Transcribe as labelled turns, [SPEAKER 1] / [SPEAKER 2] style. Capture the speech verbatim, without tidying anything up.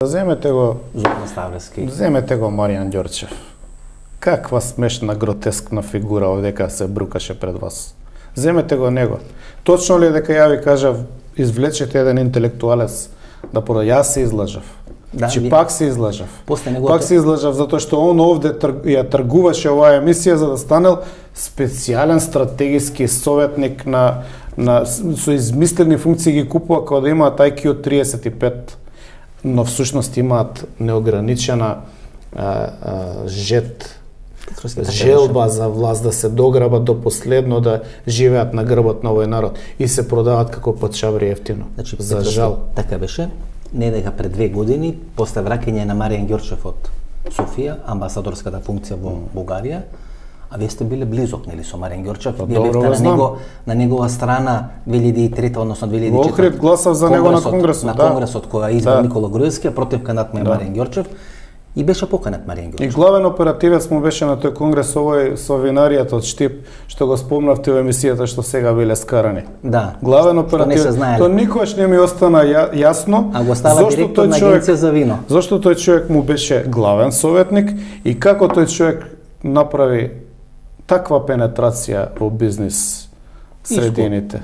[SPEAKER 1] Земете го
[SPEAKER 2] Зоран Ставлевски.
[SPEAKER 1] Земете го Маријан Ѓорчев. Каква смешна, гротескна фигура овдека се брукаше пред вас. Земете го него. Точно ли е дека ја ви кажав, извлечете еден интелектуалец да пора јас се излажав.
[SPEAKER 2] Да,
[SPEAKER 1] Чи
[SPEAKER 2] ви...
[SPEAKER 1] пак се излажав.
[SPEAKER 2] Неговото...
[SPEAKER 1] Пак се излажав затоа што он овде тр... ја тргуваше оваа емисија за да станел специјален стратегиски советник на на со измислени функции ги купува кога да имаат ай кју триесет и пет, но всушност имаат неограничена а, а, жет, желба за власт да се дограбат до последно, да живеат на грбот на овој народ и се продават како патшаври ефтино.
[SPEAKER 2] Значи,
[SPEAKER 1] за жал.
[SPEAKER 2] Така беше. Не дека пред две години, после враќање на Маријан Ѓорчев од Софија, амбасадорската функција во Бугарија, а вие сте биле близок, нели, со Маријан Ѓорчев? Вие бевте на него, на негова страна две илјади и трета, односно две илјади и четврта.
[SPEAKER 1] Во Охрид гласав за него на конгресот,
[SPEAKER 2] на
[SPEAKER 1] да.
[SPEAKER 2] конгресот која избра
[SPEAKER 1] да.
[SPEAKER 2] Никола Груевски, а против кандидат му е
[SPEAKER 1] да.
[SPEAKER 2] Маријан Ѓорчев. И беше поканет Маријан Ѓорчев.
[SPEAKER 1] И главен оперативец му беше на тој конгрес овој со винаријата од Штип, што го спомнавте во емисијата што сега биле скарани.
[SPEAKER 2] Да.
[SPEAKER 1] Главен оперативец. Тоа никогаш не ми остана ја, јасно.
[SPEAKER 2] А го става директор на агенција за вино.
[SPEAKER 1] Зошто тој човек му беше главен советник и како тој човек направи таква пенетрација во бизнис средините.